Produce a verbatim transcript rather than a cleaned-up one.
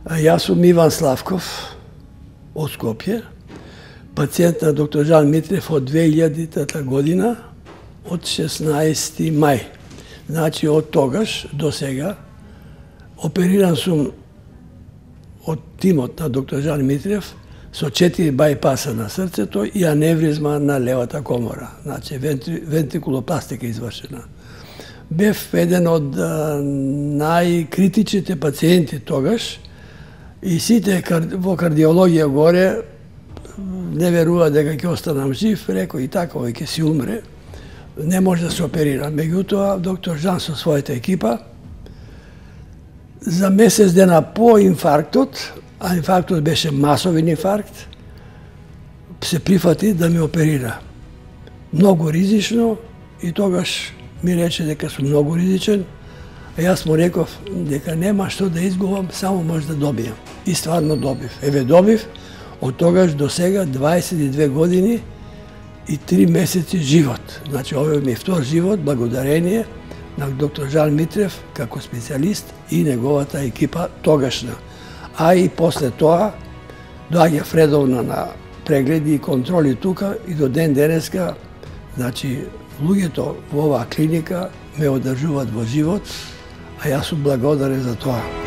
Јас сум Иван Славков од Скопје, пациент на доктор Жан Митрев од две илјадитата година, од шеснаесети мај. Значи, од тогаш до сега опериран сум од тимот на доктор Жан Митрев со четири бајпаса на срцето и аневризма на левата комора. Значи, вентрикулопластика извршена. Бев еден од најкритичните пациенти тогаш и сите во кардиологија горе не верува дека ќе останам жив, реко и така, овој ќе си умре, не може да се оперира. Меѓутоа, доктор Жан со својата екипа, за месец дена по инфарктот, а инфарктот беше масовен инфаркт, се прифати да ме оперира. Многу ризично и тогаш ми рече дека сум многу ризичен, а јас му реков дека нема што да изгубам, само може да добијам. И стварно добив. Еве добив, од тогаш до сега дваесет и две години и три месеци живот. Значи, овој ми е втор живот, благодарение на доктор Жан Митрев како специјалист и неговата екипа тогашна. А и после тоа доаѓа редовно на прегледи и контроли тука и до ден денеска, значи, луѓето во оваа клиника ме одржуваат во живот, а јас сум благодарен за тоа.